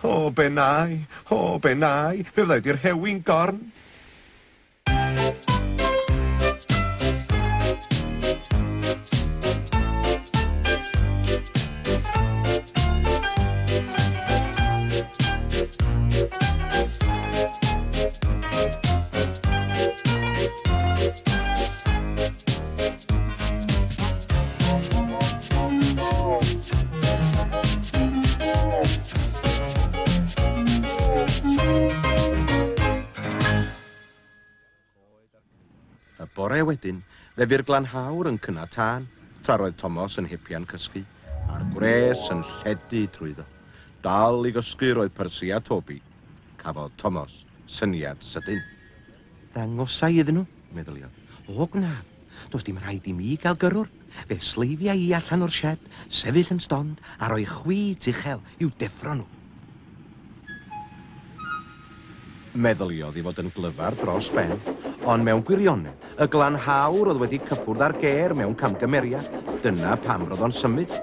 O, be nai, o, be nai, fe fydda i 'di rhewi'n gorn. Y bore wedyn, fe fu'r glanhawr yn cynnau tân, tra roedd Tomos yn hepian cysgu, a'r gwres yn lledu trwyddo. Dal i gysgu roedd Percy a Toby. Cafodd Tomos syniad sydyn. Ddangosai iddyn nhw, meddyliodd. O, gwnaf. Does dim rhaid i mi gael gyrrwr. Fe sleifia i allan o'r sied, sefyll yn stond, a rhoi chwit uchel i'w deffro nhw. Meddyliodd ei fod yn glyfar dros ben, ond mewn gwirionedd, y glanhawr oedd wedi cyffwrdd â'r gêr mewn camgymeriad, dyna pam roedd o'n symud.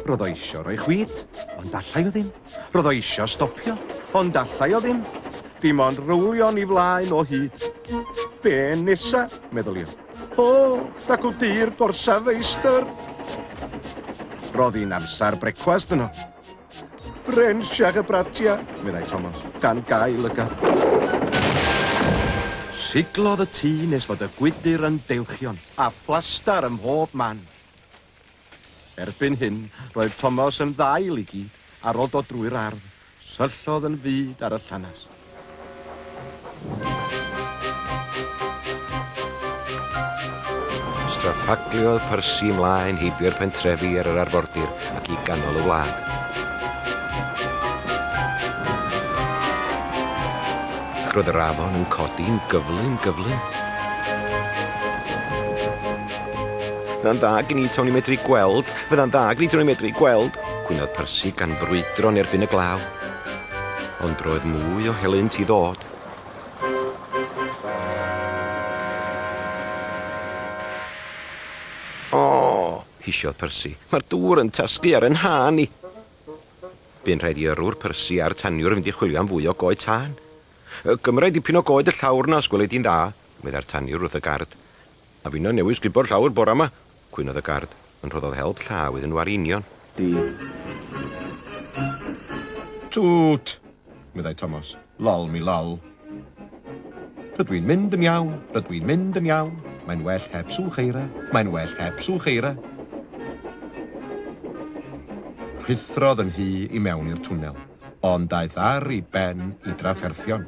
Roedd o isio rhoi chwit, ond allai o ddim. Roedd o isio stopio, ond allai o ddim. Dim ond rowlio'n i flaen o hyd. Be nesa, meddyliodd. O, dacw dir gorsaf feistr. Roedd hi'n amser brecwast yno. Brensiach y bratia, meddai Tomos, gan gau lygad. Siglodd y tŷ nes fod y gwydr yn deilchion, a phlastar ym mhob man. Erbyn hyn, roedd Tomos yn ddail i gyd, ar ôl dod drwy'r ardd, syllodd yn fud ar y llanast. Straffagliodd Percy ymlaen heibio'r pentrefi ar yr arfordir ac i ganol y wlad. Ac roedd yr afon yn codi'n gyflym, gyflym. Fydda'n dda gen i tawn i medru gweld, fydda'n dda gen i tawn i medru gweld, gwynodd Percy gan frwydro yn erbyn y glaw. Ond roedd mwy o helynt i ddod. O, hisiodd Percy, mae'r dŵr yn tasgu ar 'yn nhân i. Bu'n rhaid i yrrwr Percy a'r taniwr fynd i chwilio am fwy o goed tân. Gymra i dipyn o goed y llawr 'na os gweli di'n dda, meddai'r taniwr wrth y gard. A finna newydd sgubo'r llawr bora 'ma, cwynodd y gard, ond rhoddodd help llaw iddyn nhw ar union. Di. Twt! meddai Tomos. Lol mi lol. Rydw i'n mynd yn iawn, rydw i'n mynd yn iawn. Mae'n well heb swch eira, mae'n well heb swch eira. Rhuthrodd yn hy i mewn i'r twnnel, ond daeth ar ei ben i drafferthion.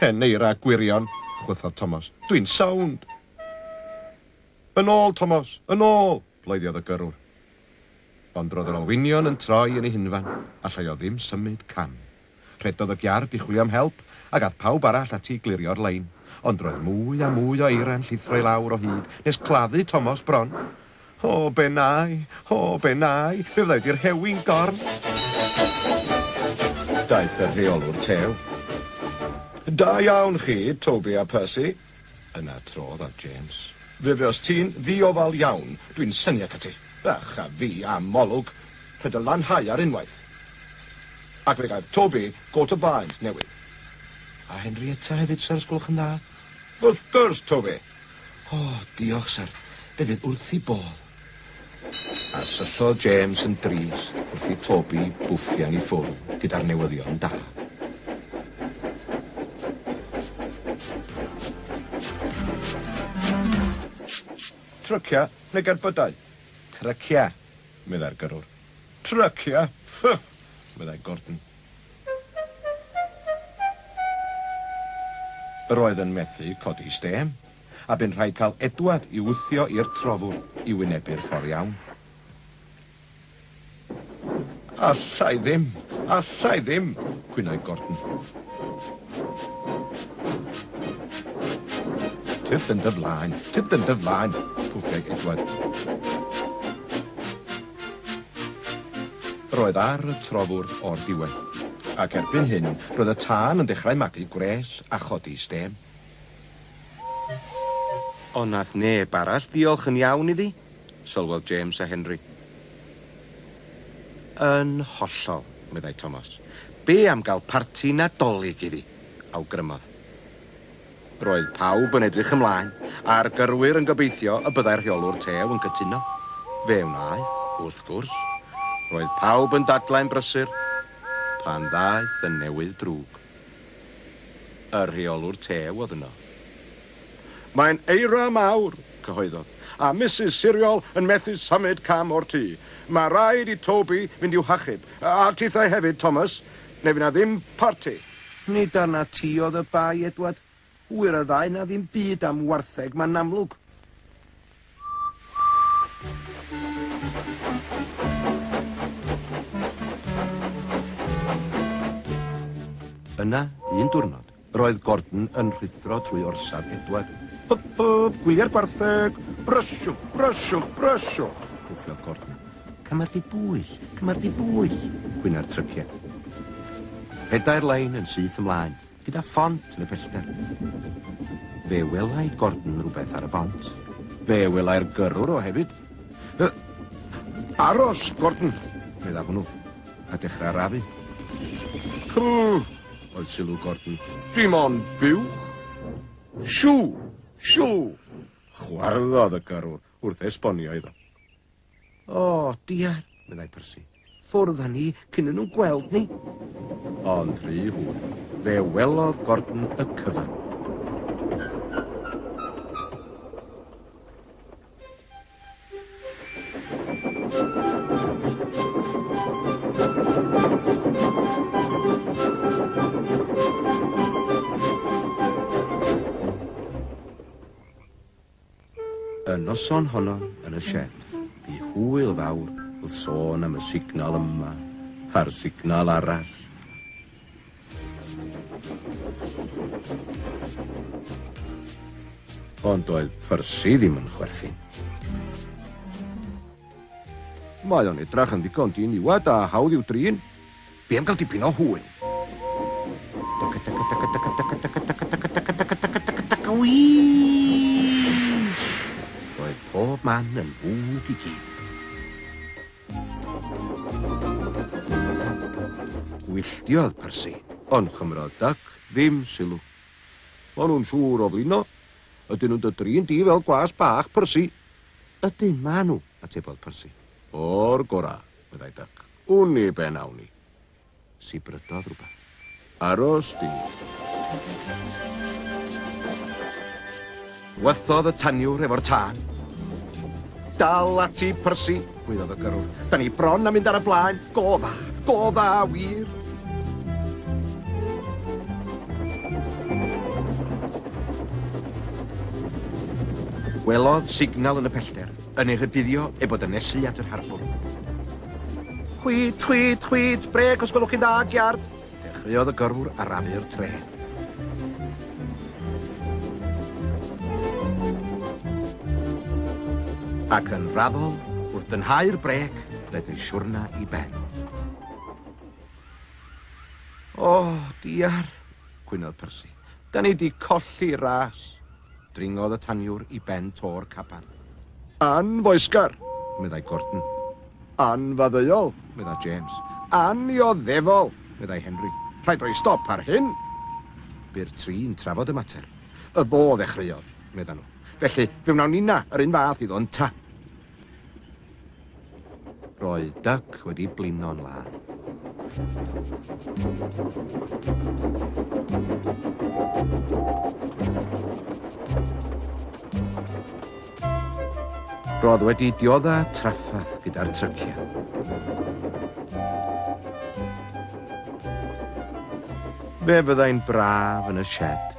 Hen eira gwirion, chwythodd Tomos. Dwi'n sownd! Yn ôl, Tomos! Yn ôl! bloeddiodd y gyrrwr. Ond roedd yr olwynion yn troi yn ei hunfan, allai o ddim symud cam. Rhedodd y giard i chwilio am help, ac ath pawb arall ati i glirio'r lein. Ond roedd mwy a mwy o eira'n llithro i lawr o hyd, nes claddu Tomos bron. O, be nai! O, be nai! Fe fydda i 'di rhewi'n gorn! Daeth y rheolwr tew. Da iawn chi, Toby a Percy. Yna trodd at James. Fe fuost ti'n ddiofal iawn, dwi'n synnu atat ti. Ych a fi am olwg. Rhaid dy lanhau ar unwaith. Ac fe gaeth Toby got o baent newydd. A Henrietta hefyd, syr, os gwelwch yn dda. Wrth gwrs, Toby! O, diolch, syr. Fe fydd wrth 'i bodd. A syllodd James yn drist wrth i Toby bwffian i ffwrdd gyda'r newyddion da. Trycia neu gerbydau? Trycia, meddai'r gyrrwr. Trycia? Ffff! meddai Gordon. Yr oedd yn methu codi stêm, a bu'n rhaid cael Edward i'w wthio i'r trofwr i wynebu'r ffordd iawn. Alla i ddim! Alla i ddim! cwynai Gordon. Tyrd yn dy flaen! Tyrd yn dy flaen! pwffiai Edward. Roedd ar y trofwrdd o'r diwedd, ac erbyn hyn roedd y tân yn dechrau magu gwres a chodi stêm. Ond nath neb arall ddiolch yn iawn iddi, sylwodd James a Henry. Yn hollol, meddai Tomos. Be am gael parti Nadolig iddi? Awgrymodd. Roedd pawb yn edrych ymlaen, a'r gyrwyr yn gobeithio y byddai'r rheolwr tew yn cytuno. Fe wnaeth, wrth gwrs. Roedd pawb yn dadlau'n brysur pan ddaeth y newydd drwg. Y rheolwr tew oedd yno. Mae'n eira mawr, cyhoeddodd, a Misus Siriol yn methu symud cam o'r tŷ. Mae rhaid i Toby fynd i'w hachub, a tithau hefyd, Thomas, neu fydd 'na ddim parti. Nid arnat ti oedd y bai, Edward. Ŵyr y ddau na ddim byd am wartheg, mae'n amlwg. Yna, un diwrnod, roedd Gordon yn rhuthro trwy orsaf Edward. Hyp, hyp, gwyliau'r gwartheg! Brysiwch, brysiwch, brysiwch! Pwffiodd Gordon. Cymar di bwyll, cymar di bwyll, gwyna'r tryciau. Rhedai'r lein yn syth ymlaen, gyda phont yn y pellter. Fe welai Gordon rhywbeth ar y bont. Fe welai'r gyrrwr o hefyd. Aros, Gordon, medda hwnnw, a dechrau arafu. Pw, oedd sylw Gordon. Dim ond buwch. Siw, siw, chwarddodd y gyrrwr wrth esbonio iddo. O, diar, meddai Percy. Ffwrdd â ni cyn iddyn nhw gweld ni. Ond rhy hwyr. Fe welodd Gordon y cyfan. Y noson honno yn y sied, bu hwyl fawr wrth sôn am y signal yma a'r signal arall. Ond doedd Percy ddim yn chwerthin. Mae o'n edrach yn ddigon diniwad a hawdd i'w drin. Be am gael dipyn o hwyl? Wîsh! Roedd pob man yn fwg i gyd. Gwylltiodd Percy, ond chymrodd Duck ddim sylw. Maen nhw'n siŵr o flino. Ydyn nhw'n dy drin di fel gwas bach, Percy? Ydyn, maen nhw, atebodd Percy. O'r gorau, meddai Duck. Wn i be nawn ni. Sibrydodd rhywbeth. Aros di. Wethodd y taniwr efo'r tân. Dal ati, Percy, gwaeddodd y gyrrwr. Da ni bron a mynd ar y blaen. Go dda, go dda, wir. Gwelodd signal yn y pellter, yn ei rhybuddio ei bod yn nesu at yr harbwr. Chwit, chwit, chwit, brêc os gwelwch chi'n dda, giard. Dechreuodd y gyrrwr arafu'r trên. Ac yn raddol, wrth dynhau'r brêc, daeth ei siwrna i ben. O, diar, cwynodd Percy. Da ni 'di colli ras. Dringodd y taniwr i ben to'r caban. Anfoesgar, meddai Gordon. Anfaddeuol, meddai James. Annioddefol, meddai Henry. Rhaid rhoi stop ar hyn. Bu'r tri'n trafod y mater. Y fo ddechreuodd, meddan nhw. Felly, fe wnawn ninna yr un fath iddo ynta. Roedd Duck wedi blino'n lân. Roedd wedi diodda trafferth gyda'r tryciau. Fe fyddai'n braf yn y sied.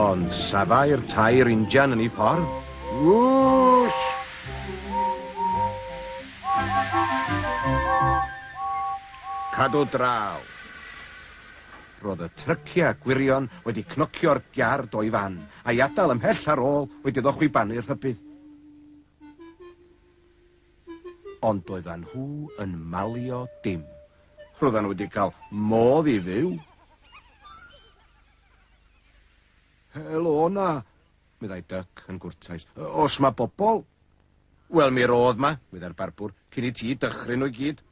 Ond safai'r tair injan yn ei ffordd. Wwsh! Cadw draw. Roedd y tryciau gwirion wedi cnocio'r giard o'i fan, a'i adael ymhell ar ôl wedi iddo chwibanu'r rhybudd. Ond doeddan nhw yn malio dim. Roeddan nhw wedi cael modd i fyw. Helo 'na, meddai Duck yn gwrtais. Oes 'ma bobl? Wel, mi roedd 'ma, meddai'r barbwr, cyn i ti dychryn nhw i gyd.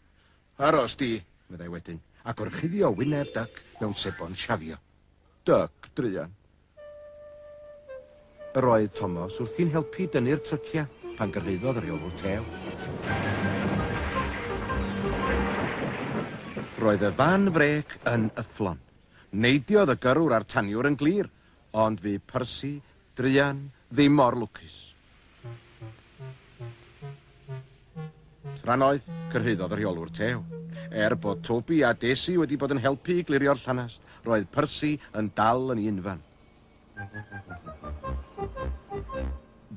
Aros di, meddai wedyn, a gorchuddio wyneb Duck mewn sebon siafio. Duck, druan. Yr oedd Tomos wrthi'n helpu dynnu'r tryciau pan gyrhaeddodd y rheolwr tew. Roedd y fan frêc yn yfflon. Neidiodd y gyrrwr a'r taniwr yn glir, ond fu Percy, druan, ddim mor lwcus. Trannoeth, cyrhaeddodd y rheolwr tew. Er bod Toby a Daisy wedi bod yn helpu i glirio'r llanast, roedd Percy yn dal yn ei unfan.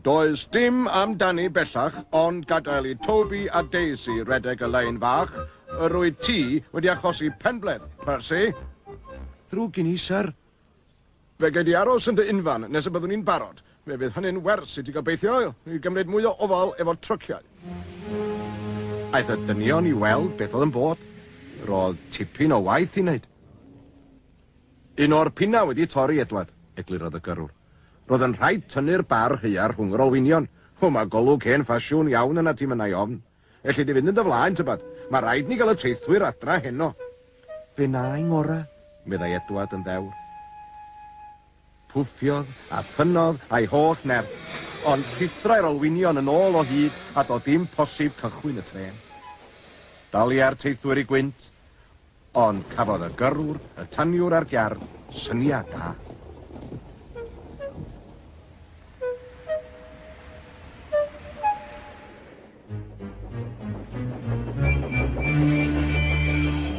Does dim amdani bellach ond gadael i Toby a Daisy redeg y lein fach. Yr wyt ti wedi achosi penbleth, Percy. Ddrwg gen i, syr. Fe gei di aros yn dy unfan nes y byddwn ni'n barod. Fe fydd hynny'n wers i ti gobeithio i gymryd mwy o ofal efo'r tryciau. Aeth y dynion i weld beth oedd yn bod. Roedd tipyn o waith i wneud. Un o'r pinnau wedi torri, Edward, eglurodd y gyrrwr. Roedd yn rhaid tynnu'r bar haearn rhwng yr olwynion. O, mae golwg hen ffasiwn iawn yna ti, mynnai ofn. Elli di fynd yn dy flaen, tybad. Mae rhaid ni gael y teithwyr adra heno. Fe wna i ngora, meddai Edward yn ddewr. Pwffiodd a thynnodd a'i holl nerth, ond rhuthrai'r olwynion yn ôl o hyd a doedd dim posib cychwyn y trên. Daliai'r teithwyr i gwynt, ond cafodd y gyrrwr, y taniwr a'r giard syniad da.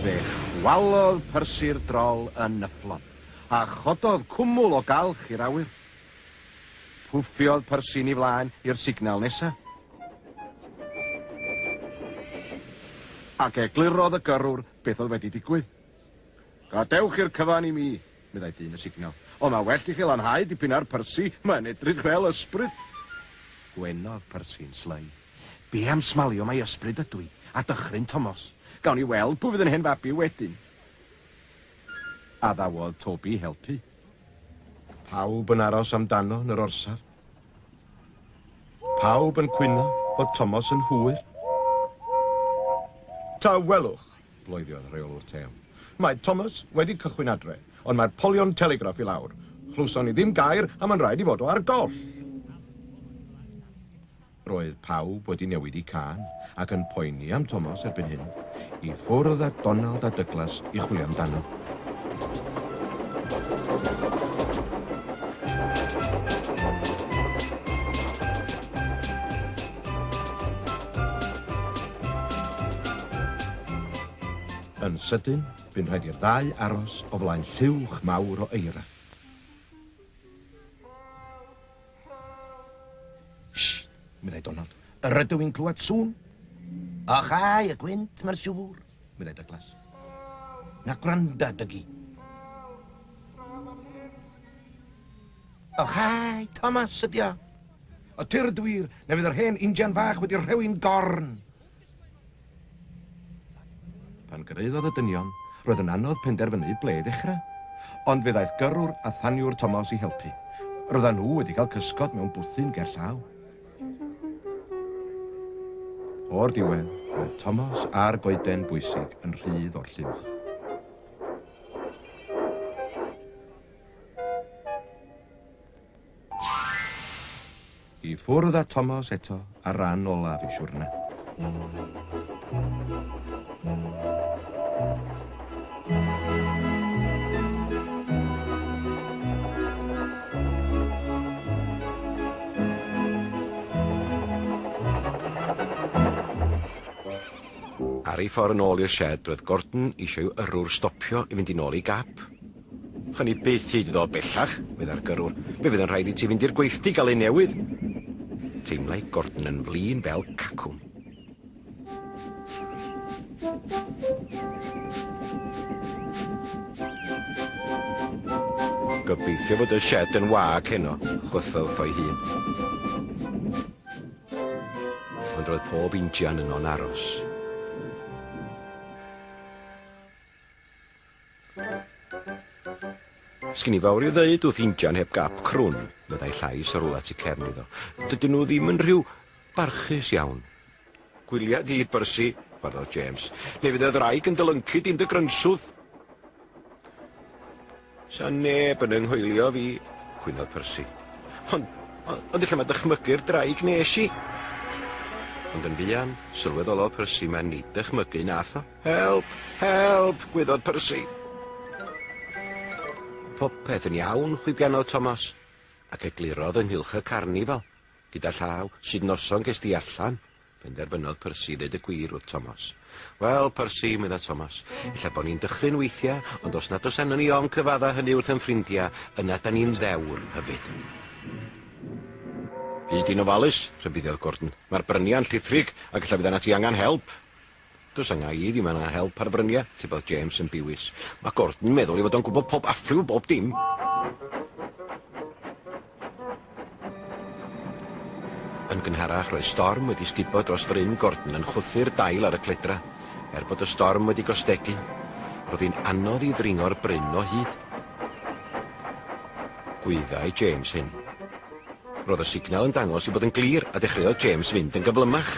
Fe chwalodd Percy'r drol yn nyfflon, a chododd cwmwl o galch i'r awyr. Pwffiodd Percy'n ei flaen i'r signal nesa. Ac eglurodd y gyrrwr beth oedd wedi digwydd. Gadewch i'r cyfan i mi, meddai dyn y signal. Ond mae well i chi lanhau dipyn ar Percy, mae'n edrych fel ysbryd. Gwenodd Percy'n slei. Be am smalio mai ysbryd ydw i, a dychryn Tomos? Gawn ni weld pwy fydd yn hen fabi wedyn. Addawodd Toby helpu. Pawb yn aros amdano yn yr orsaf. Pawb yn cwyno bod Tomos yn hwyr. Tawelwch, bloeddiodd rheolwr tew. Mae Thomas wedi cychwyn adre, ond mae'r polion telegraff i lawr. Chlywson ni ddim gair a mae'n rhaid i fod o ar goll. Roedd pawb wedi newid i cân ac yn poeni am Thomas erbyn hyn. I ffwrdd â Donald a Douglas i chwilio amdano. Yn sydyn, bu'n rhaid i'r ddau aros o flaen lluwch mawr o eira. Sht, meddai Donald. Yr ydw i'n clywed sŵn. Och ai, y gwynt, mae'n siŵr, meddai Douglas. Na gwranda, Dougie. Och ai, Thomas ydi o. O tyrd wir, na fydd yr hen injan fach wedi rhewi'n gorn. Pan gyrhaeddodd y dynion, roedd yn anodd penderfynu ble i ddechrau. Ond fe ddaeth gyrrwr a thaniwr Tomos i helpu. Roeddan nhw wedi cael cysgod mewn bwthyn ger llaw. O'r diwedd, roedd Tomos a'r goeden bwysig yn rhydd o'r lluwch. I ffwrdd â Tomos eto ar ran olaf ei siwrne. Ar ei ffordd yn ôl i'r sied, roedd Gordon eisiau i'w yrrwr stopio i fynd i nôl ei gap. Chawn ni byth hyd iddo bellach, meddai'r gyrrwr. Fe fydd yn rhaid i ti fynd i'r gweithdy gael ei newydd. Teimlai Gordon yn flin fel cacwn. Gobeithio fod y shed yn wag heno, chwythodd wrtho'i hun. Ond roedd pob injan yno'n aros. Sgin i fawr i'w ddeud wrth injan heb gap crwn, meddai llais o rywle tu cefn iddo. Dydyn nhw ddim yn rhyw barchus iawn. Gwylia di, Percy, chwarddodd James, neu fydd y ddraig yn dy lyncu di'n dy grynswth. Sa neb yn 'y nghoelio fi, cwynodd Percy. Ond, ond ella mae dychmygu'r draig nes i. Ond yn fuan, sylweddolodd Percy mai nid dychmygu nath o. Help! Help! gwyddodd Percy. Popeth yn iawn, chwibianodd Thomas, ac eglurodd ynghylch y carnifal. Gyda llaw, sut noson ges di allan? Penderfynodd Percy ddeud y gwir wrth Tomos. Wel, Percy, medda Tomos, ella bo' ni'n dychryn weithia, ond os nad oes arnon ni ofn cyfadda hynny wrth 'yn ffrindia, yna 'dan ni'n ddewr hefyd. Byd i'n ofalus, rhybuddiodd Gordon. Mae'r bryniau'n llithrig, ac ella fydd arnat ti angan help. Does anga i ddim angan help ar fryniau, tybiodd James yn biwis. Mae Gordon yn meddwl ei fod o'n gwybod pob affriw bob dim. Yn gynharach roedd storm wedi sgubo dros fryn Gordon yn chwythu'r dail ar y cledrau. Er bod y storm wedi gostegu, roedd hi'n anodd i ddringo'r bryn o hyd. Gwyddai James hyn. Roedd y signal yn dangos ei bod yn glir a dechreuodd James fynd yn gyflymach.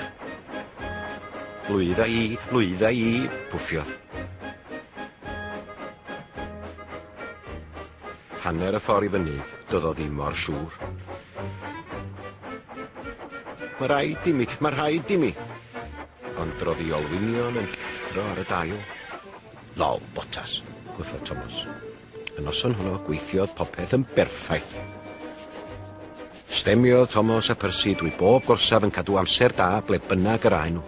Lwydda i, lwydda i, pwffiodd. Hanner y ffordd i fyny, doedd o ddim mor siŵr. Mae rhaid i mi, mae rhaid i mi. Ond roedd ei olwynion yn llithro ar y dail. Lol, botas, chwythodd Tomos. Y noson honno gweithiodd popeth yn berffaith. Stemiodd Tomos a Percy drwy bob gorsaf yn cadw amser da ble bynnag yr aen nhw.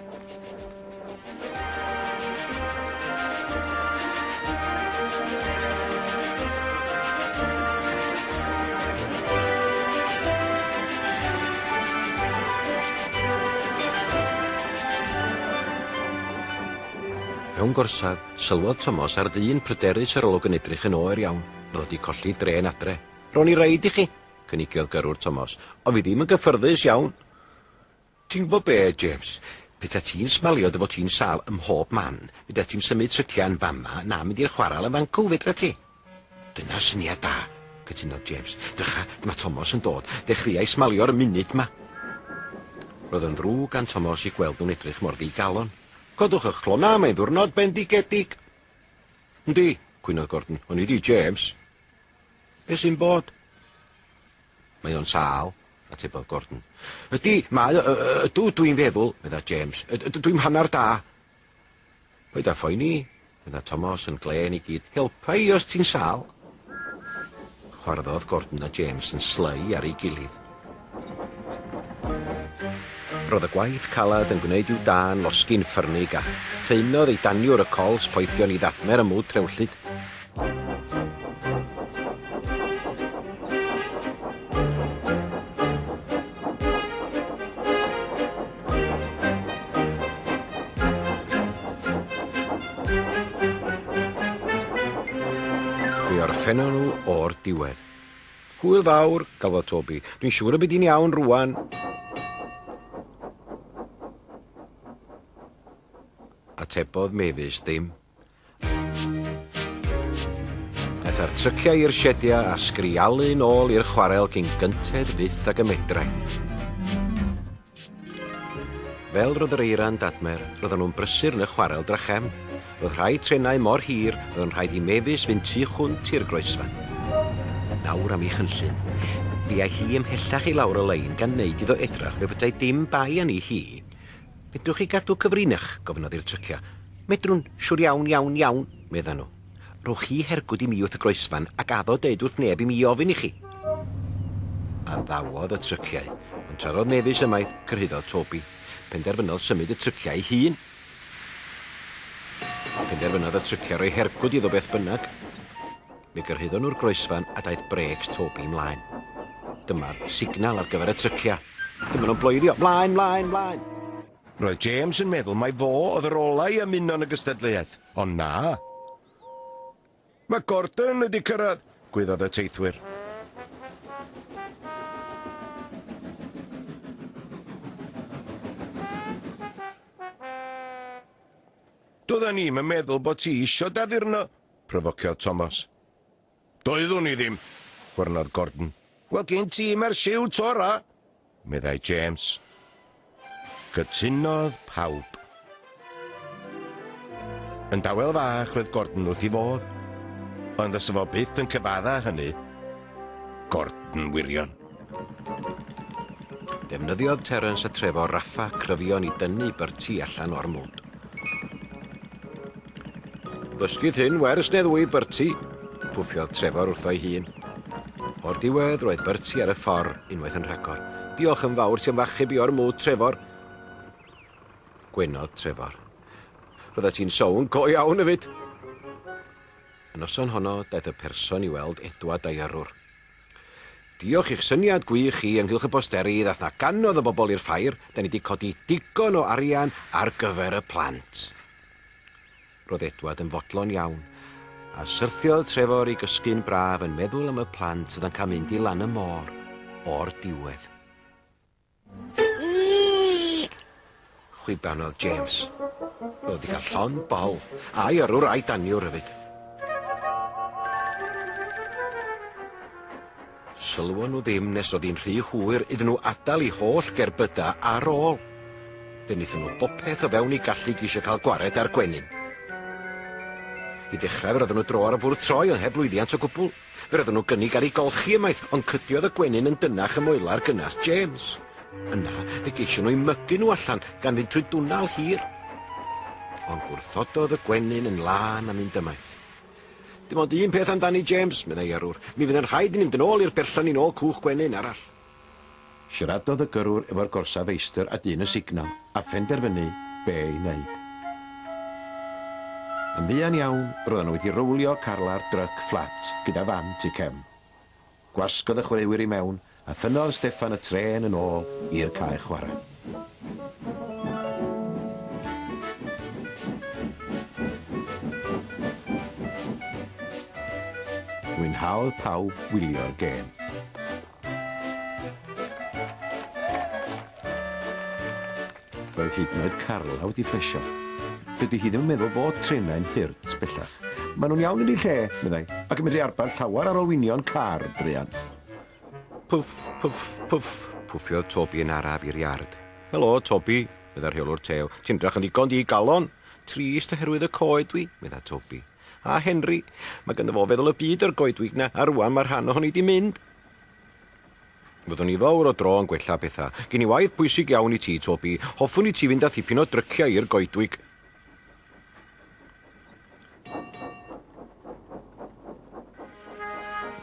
Mewn gorsaf, Sylwodd Tomos ar ddyn pryderus yr olwg yn edrych yn oer iawn. Roedd o 'di colli drên adre. Rown i reid i chi, cynigiodd gyrrwr Tomos, ond fi ddim yn gyffyrddus iawn. Ti'n gwybod be, James? Peta ti'n smalio dy fod ti'n sâl ym mhob man, fedra ti'm symud trycia yn fama na mynd i'r chwaral yn fancw, fedra ti? Dyna syniad da, cytunodd James. Drycha, dyma Tomos yn dod. Dechreuai smalio'r munud 'ma. Roedd yn ddrwg gan Tomos i gweld nhw'n edrych mor ddigalon. Codwch ych clona, mae'n ddiwrnod bendigedig. Yndi, cwynodd Gordon, ond nid i James. Be sy'n bod? Mae o'n sâl, atebodd Gordon. Ydy, mae o, ydw, dwi'n feddwl, medda James. Dwi'm hannar da. Paid â phoeni, medda Tomos yn glên i gyd. Helpa i os ti'n sâl. Chwarddodd Gordon a James yn slei ar ei gilydd. Roedd y gwaith caled yn gwneud i'w dân losgi'n ffyrnig a thaenodd ei daniwr y cols poethion i ddadmer y mwd trewllyd. Fe orffennon nhw o'r diwedd. Hwyl fawr, galwodd Toby. Dwi'n siŵr y bydd hi'n iawn rwan. Atebodd Mavis ddim. Aeth â'r tryciau i'r siediau a sgrialu nôl i'r chwarel cyn gynted fyth ag y medrai. Fel roedd yr eira'n dadmer, roedden nhw'n brysur yn y chwarel drachefn. Roedd rhai trenau mor hir, roedd yn rhaid i Mavis fynd tu hwnt i'r groesfan. Nawr am ei chynllun. Fuai hi ymhellach i lawr y lein gan wneud iddo edrach fel petai dim bai arni hi. Fedrwch chi gadw cyfrinach? gofynnodd i'r tryciau. Medrwn, siwr iawn, iawn, iawn, meddan nhw. Rhowch chi hergwd i mi wrth y groesfan ac addo deud wrth neb i mi ofyn i chi. Addawodd y tryciau, ond tra roedd Mavis ymaith, cyrhaeddodd Toby. Penderfynodd symud y tryciau ei hun. Penderfynodd y tryciau roi hergwd iddo beth bynnag. Fe gyrhaeddon nhw'r groesfan a daeth brêcs Toby mlaen. Dyma'r signal ar gyfer y tryciau. Dyma nhw'n bloeddio, Mlaen, mlaen, mlaen! Roedd James yn meddwl mai fo oedd yr ola i ymuno yn y gystadleuaeth, ond na. Mae Gordon wedi cyrraedd. Gwyddodd y teithwyr. Doedden ni'm yn meddwl bod ti isio d'addurno, pryfociodd Thomas. Doeddwn i ddim, chwyrnodd Gordon. Wel, gen ti mae'r siwt ora, meddai James. Cytunodd pawb. Yn dawel fach roedd Gordon wrth ei fodd, ond fysa fo byth yn cyfadda hynny. Gordon wirion. Defnyddiodd Terence a Trefor raffa cryfion i dynnu Bertie allan o'r mwd. Ddysgith hyn wers neu ddwy, Bertie, pwffiodd Trefor wrtho'i hun. O'r diwedd, roedd Bertie ar y ffordd unwaith yn rhagor. Diolch yn fawr ti am f'achub i o'r mwd, Trefor. Gwenodd Trefor. Roeddet ti'n sownd go iawn hefyd. Y noson honno, daeth y person i weld Edward a'i yrrwr. Diolch i'ch syniad gwych chi ynghylch y posteri, ddath 'na gannoedd o bobl i'r ffair, da ni 'di codi digon o arian ar gyfer y plant. Roedd Edward yn fodlon iawn, a syrthiodd Trefor i gysgu'n braf yn meddwl am y plant oedd yn cael mynd i lan y môr o'r diwedd. Chwibanodd James. Roedd wedi cael llond bol, a'i yrrwr a'i daniwr hefyd. Sylwon nhw ddim nes oedd hi'n rhy hwyr iddyn nhw adael eu holl gerbydau ar ôl. Fe wnaethon nhw bopeth o fewn eu gallu i geisio cael gwared ar gwenyn. I ddechrau fe roedden nhw dro ar y bwrdd troi ond heb lwyddiant o gwbl. Fe roedden nhw gynnig ar ei golchi ymaith, ond cydiodd y gwenyn yn dynnach ym moelar gynnas James. Yna, fe geision nhw'u mygu nhw allan, gan fynd trwy dwnnel hir. Ond gwrthododd y gwenyn yn lân a mynd ymaith. Dim ond un peth amdani, James, meddai yrrwr. Mi fydd yn rhaid i ni mynd yn ôl i'r berllan i nôl cwch gwenyn arall. Siaradodd y gyrrwr efo'r gorsaf feistr a dyn y signal, a phenderfynu be i wneud. Yn fuan iawn, roedden nhw wedi rowlio Carla'r dryc fflat gyda fan tu cefn. Gwasgodd y chwaraewyr i mewn, a thynnodd Steffan y trên yn ôl i'r cae chwarae. Mwynhaodd pawb wylio'r gêm. Roedd hyd yn oed Carla wedi plesio. Dydy hi ddim yn meddwl fod trenau'n hurt bellach. Maen nhw'n iawn yn eu lle, meddai, ac yn medru arbed llawer ar olwynion car, druan. Pwff, pwff, pwff, pwffiodd Toby yn araf i'r iard. Helo, Toby, meddai'r rheolwr tew. Ti'n edrych yn ddigon digalon. Trist oherwydd y coed dwi, meddai Toby. A Henry, mae ganddo fo feddwl y byd o'r goedwig 'na, a rwan mae rhan ohoni 'di mynd. Fyddwn i fawr o dro yn gwella pethau. Gen i waith pwysig iawn i ti, Toby. Hoffwn i ti fynd â thipyn o dryciau i'r goedwig.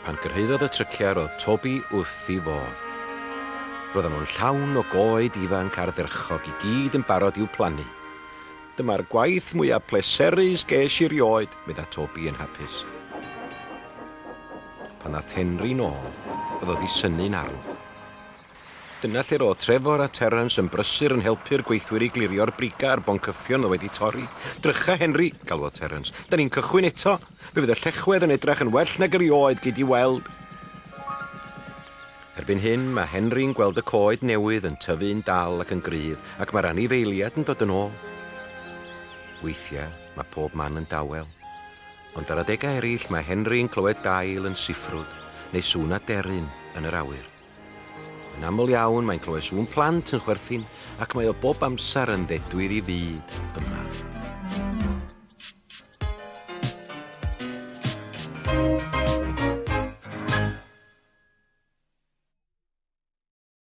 Pan gyrhaeddodd y tryciau roedd Toby wrth ei fodd. Roedden nhw'n llawn o goed ifanc ardderchog i gyd yn barod i'w plannu. Dyma'r gwaith mwyaf pleserus ges i rioed, medda Toby yn hapus. Pan ddaeth Henry nôl, oedd o 'di synnu'n arw. Dyna lle roedd Trefor a Terence yn brysur yn helpu'r gweithwyr i glirio'r brigau a'r boncyffion oedd wedi torri. Drycha, Henry, galwodd Terence. Da ni'n cychwyn eto. Fe fydd y llechwedd yn edrach yn well nag erioed, gei di weld. Erbyn hyn, mae Henry'n gweld y coed newydd yn tyfu'n dal ac yn gryf, ac mae'r anifeiliaid yn dod yn ôl. Weithiau, mae pob man yn dawel. Ond ar adegau eraill, mae Henry'n clywed dail yn siffrwd neu sŵn aderyn yn yr awyr. Yn aml iawn, mae'n clywed sŵn plant yn chwerthin, ac mae o bob amser yn ddedwydd i fyd yma.